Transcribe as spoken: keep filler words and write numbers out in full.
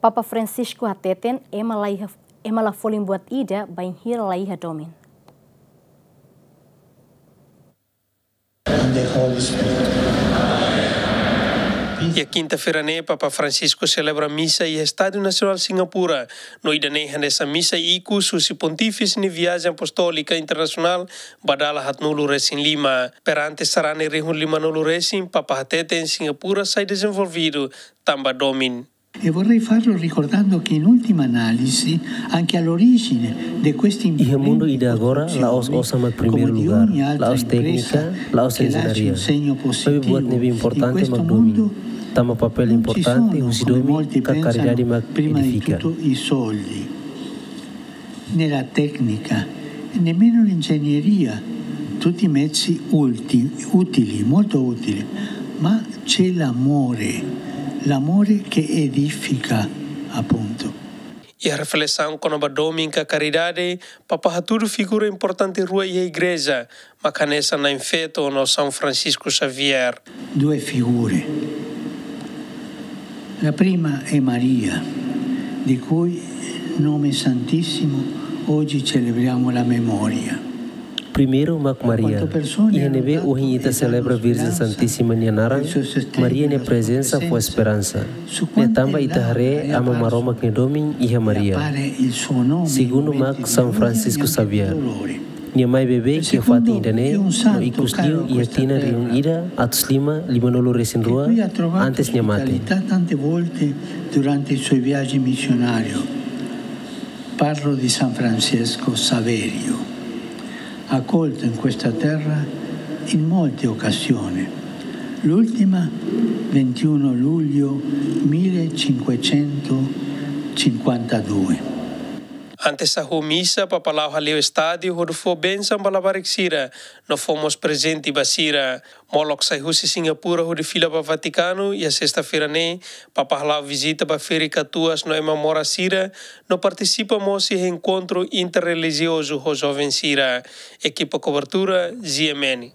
Papa Francisco hateten ema la iha, ema la folin buat ida bainhira la iha domin. Iha kinta-feira ne'e, Papa Francisco selebra misa iha Estádiu Nasionál Singapura. No ida-ne'e hanesan misa ikus husi Pontífise nia viajen apostólika internasionál ba dala haatnulu resin lima. Perante sarani rihun limanulu resin, Papa hateten Singapura sai dezenvolvidu tanba domin. E vorrei farlo ricordando che in ultima analisi anche all'origine di questi imponenti costruzioni, come di ogni altra impresa che lascia un segno positivo, in questo mondo non ci sono, come molti pensano, prima di tutto i soldi. Nella tecnica, nemmeno l'ingegneria, tutti mezzi ulti-, utili, molto utili, ma c'è l'amore, l'amore che edifica, appunto. Iha reflesaun kona-ba domin ka karidade, Papa hatudu figura importante rua iha Igreja, mak hanesan Na'in Feto no São Francisco Xavier. Due figure. La prima è Maria, di cui nome santissimo oggi celebriamo la memoria. Primeiru mak Maria. Iha ne'ebé ohin ita selebra Virjen Santísima nia naran, Maria nia prezensa fó esperansa. Ne'e tanba ita haree Aman Maromak nia domin iha Maria. Segundu mak São Francisco Xavier. Nia mai beibeik iha fatin ida-ne'e, no ikus liu iha tinan rihun ida atus lima limanulu resin rua, antes nia mate. Tante volte durante i suoi viaji misionari. Parlo di San Francesco Saverio, accolto in questa terra in molte occasioni. L'ultima, ventuno luglio millecinquecentocinquantadue. Antes hahú misa, Papa la'o hale'u estádiu hodi fó bensaun ba labarik sira, no fó mós prezente ba sira. Molok sai husi Singapura hodi fila ba Vatikanu, iha sesta-feira ne'e, Papa hala'o vizita ba ferik-katuas no ema moras sira, no partisipa mós iha enkontru interrelijiozu ho joven sira. Ekipa kobertura, G M N.